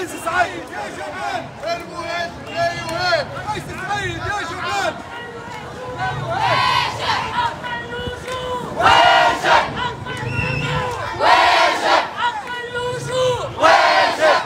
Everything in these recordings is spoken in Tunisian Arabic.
قيس سعيد يا جبان، المهاجر لا يهان. قيس سعيد يا جبان. حق اللجوء واجب، حق اللجوء واجب، حق اللجوء واجب.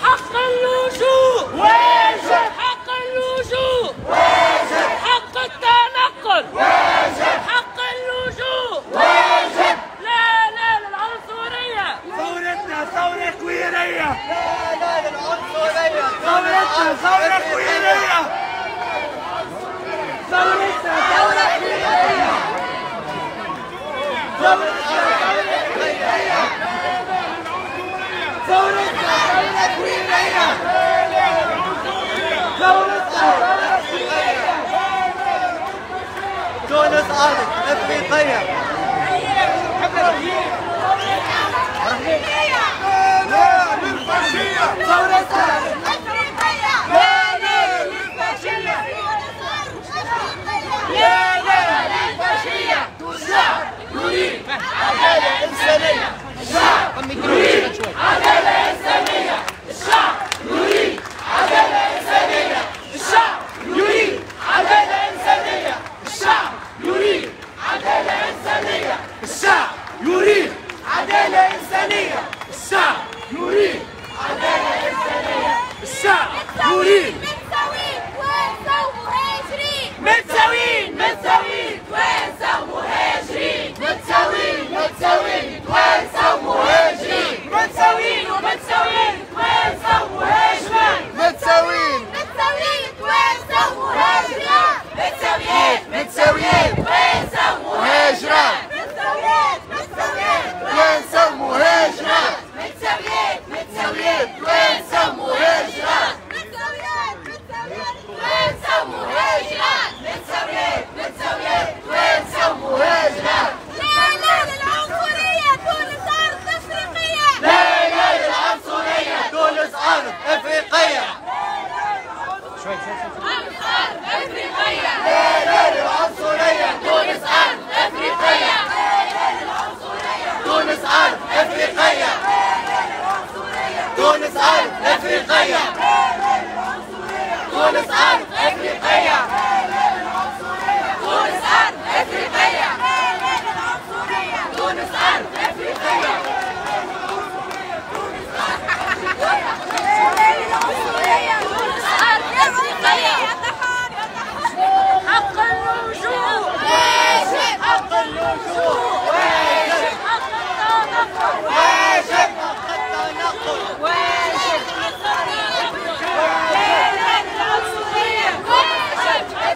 حق اللجوء واجب، حق اللجوء واجب، حق التنقل واجب، حق اللجوء واجب. لا لا للعنصرية، ثورتنا ثورة كويرية. لا لا للعنصرية، ثورتنا ثورة كويرية، ثورتنا ثورة كويرية، ثورتنا ثورة كويرية، ثورتنا ثورة كويرية، ثورتنا ثورة كويرية. تونس أرض أفريقية. لا لا للفاشية، ثورتنا أفريقية. لا لا للفاشية، لا لا للفاشية. الشعب يريد عدالة إنسانية، الشعب يريد عدالة إنسانية، الشعب يريد عدالة إنسانية، الشعب يريد عدالة إنسانية، الشعب يريد عدالة إنسانية، الشعب يريد عدالة إنسانية، الشعب يريد عدالة إنسانية، الشعب يريد. متساويين توانسة ومهاجرين، متساويين متساويين توانسة ومهاجرين، متساويين متساويين توانسة ومهاجرين، متساويين ومتساويين توانسة ومهاجرين، متساويين متساويين توانسة ومهاجرين، متساويين متساويين توانسة ومهاجرين، متساويين متساويين توانسة ومهاجرين، متساويين متساويين توانسة ومهاجرين، متساويين متساويين توانسة ومهاجرين، متساويين متساويين توانسة ومهاجرين. لا لا للعنصرية، تونس أرض أفريقية. لا لا للعنصرية، تونس أرض أفريقية. أرض أفريقية. لا لا للعنصرية، تونس أرض أفريقية. تونس أرض أفريقية، تونس أرض أفريقية، تونس أرض أفريقية، تونس أرض أفريقية. تونس أرض أفريقية. تونس أرض أفريقية. حق اللجوء واجب، حق اللجوء واجب، حق التنقل واجب، حق التنقل واجب، حق التنقل. لا لا للعنصرية واجب.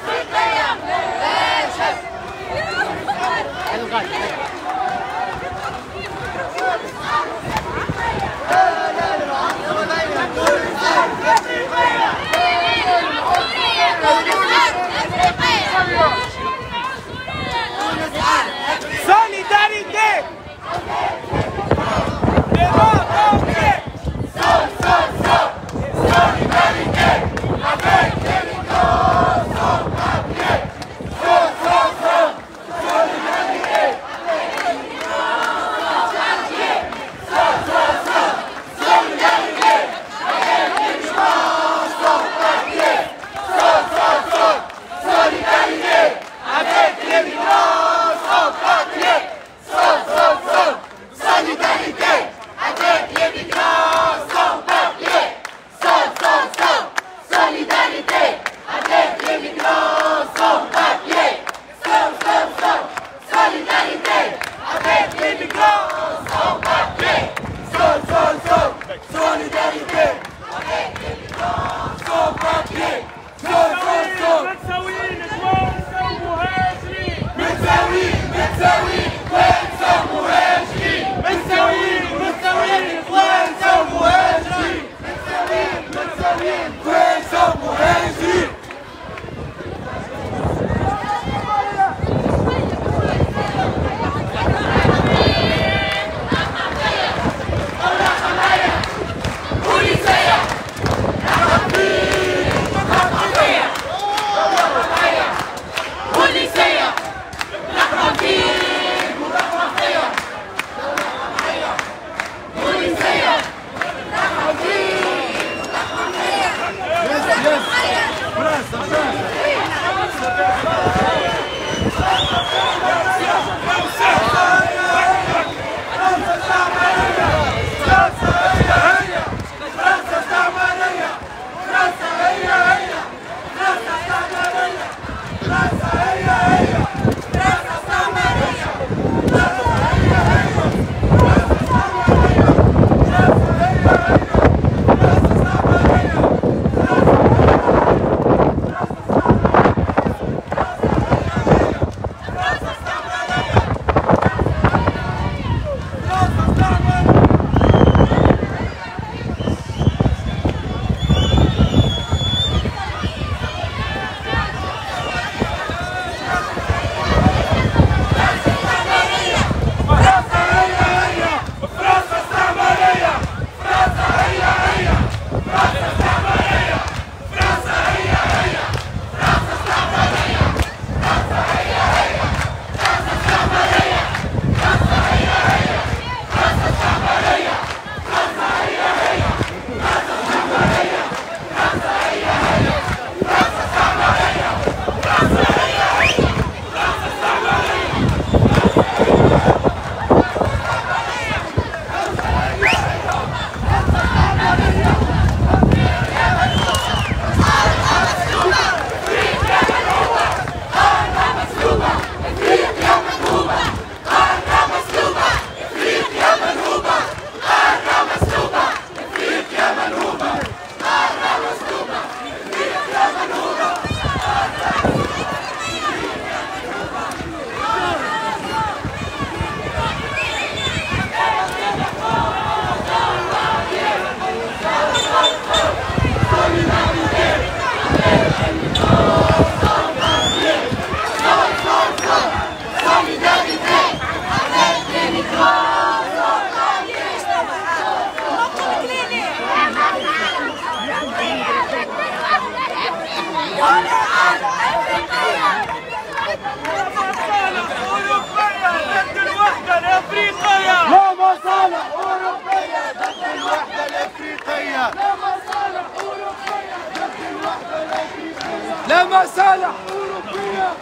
مصالح أوروبية.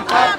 Sans